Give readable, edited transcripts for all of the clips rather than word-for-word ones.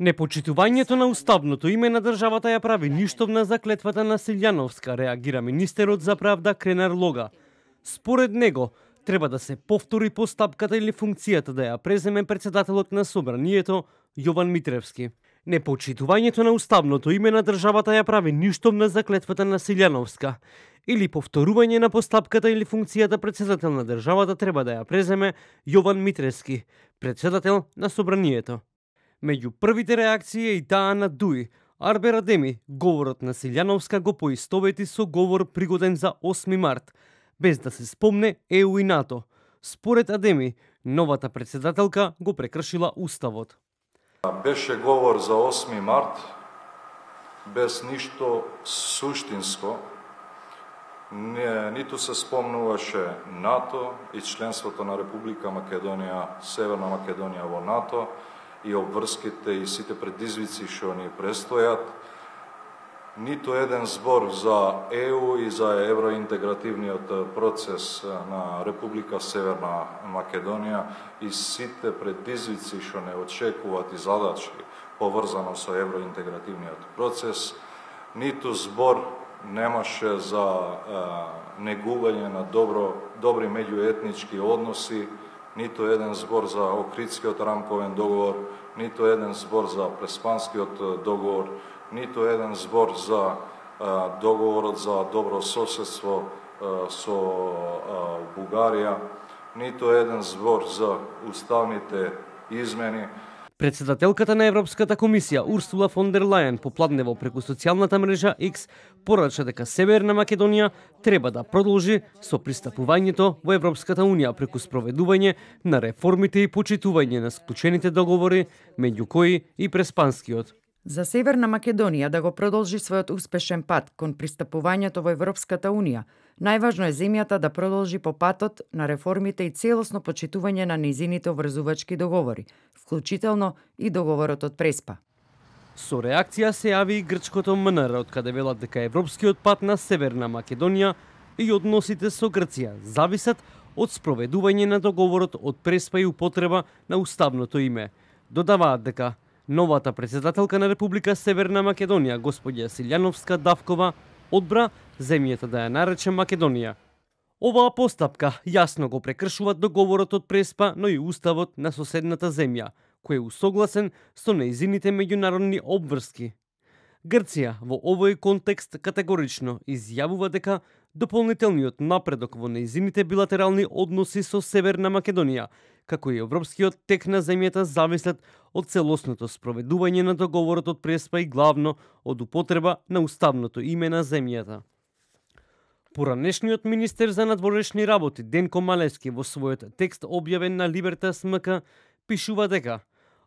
Непочитувањето на уставното име на државата ја прави ништовна за клетвата на Силјановска, реагира министерот за правда Кренар Лога. Според него, треба да се повтори постапката или функцијата да ја преземе председателот на собранието Јован Митревски. Непочитувањето на уставното име на државата ја прави ништовна за клетвата на Силјановска. Или повторување на постапката или функцијата председател на државата треба да ја преземе Јован Митревски, председател на собранието. Меѓу првите реакции е и таа на Дуи. Арбер Адеми, говорот на Силјановска го поистовети со говор пригоден за 8 март, без да се спомне ЕУ и НАТО. Според Адеми, новата председателка го прекршила уставот. Беше говор за 8 март, без ништо суштинско. Ниту се спомнуваше НАТО и членството на Република Македонија, Северна Македонија во НАТО и обврските и сите предизвици што ни престојат. Ниту еден збор за ЕУ и за евроинтегративниот процес на Република Северна Македонија и сите предизвици што не очекуваат и задачи поврзано со евроинтегративниот процес. Ниту збор немаше за негување на добри меѓуетнички односи, ниту еден збор за Охридскиот рамковен договор, ниту еден збор за Преспанскиот договор, ниту еден збор за договорот за добро соседство со Бугарија, ниту еден збор за уставните измени. Председателката на Европската комисија Урсула фон дер Лајен попладнево преку социјалната мрежа X порача дека Северна Македонија треба да продолжи со пристапувањето во Европската унија преку спроведување на реформите и почитување на склучените договори, меѓу кои и Преспанскиот. За Северна Македонија да го продолжи својот успешен пат кон пристапувањето во Европската унија, најважно е земјата да продолжи по патот на реформите и целосно почитување на нејзините обврзувачки договори, вклучително и договорот од Преспа. Со реакција се јави и грчкото МНР, од каде велат дека европскиот пат на Северна Македонија и односите со Грција зависат од спроведување на договорот од Преспа и употреба на уставното име. Додаваат дека новата председателка на Република Северна Македонија, господја Силјановска Давкова, одбра земјата да ја нарече Македонија. Оваа постапка јасно го прекршува договорот од Преспа, но и уставот на соседната земја, кој е усогласен со нејзините меѓународни обврски. Грција во овој контекст категорично изјавува дека дополнителниот напредок во нејзините билатерални односи со Северна Македонија, како и европскиот тек на земјата зависат од целосното спроведување на договорот од Преспа и главно од употреба на уставното име на земјата. Поранешниот министер за надворешни работи Денко Малевски во својот текст објавен на Либертас МК пишува дека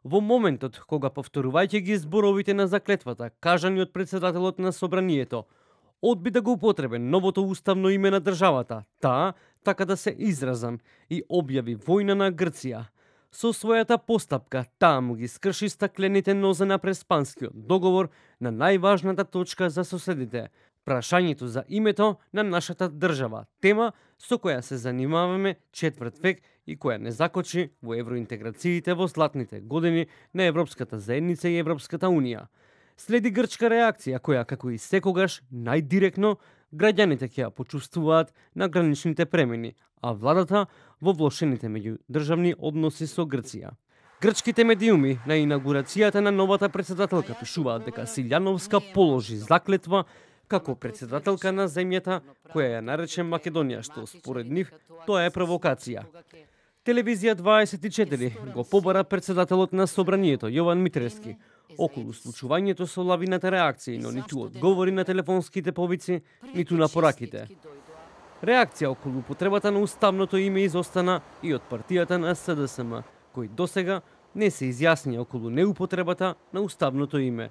во моментот кога повторувајќи ги зборовите на заклетвата кажани од председателот на собранието, одби да го употреби новото уставно име на државата, таа, така да се изразам, и објави војна на Грција. Со својата постапка, таа му ги скрши стаклените нозе на Преспанскиот договор на најважната точка за соседите, прашањето за името на нашата држава, тема со која се занимаваме четврт век и која не закочи во евроинтеграциите во златните години на Европската заедница и Европската унија. Следи грчка реакција која, како и секогаш, најдиректно граѓаните ќе ја почувствуваат на граничните премени, а владата во влошените меѓудржавни односи со Грција. Грчките медиуми на инаугурацијата на новата председателка пишуваат дека Силјановска положи заклетва како председателка на земјата која ја нарече Македонија, што според нив тоа е провокација. Телевизија 24 го побара председателот на собранието Јован Митревски околу случувањето со лавината реакции, но ниту одговори на телефонските повици, ниту на пораките. Реакција околу употребата на уставното име изостана и од партијата на СДСМ, кој досега не се изјасни околу неупотребата на уставното име.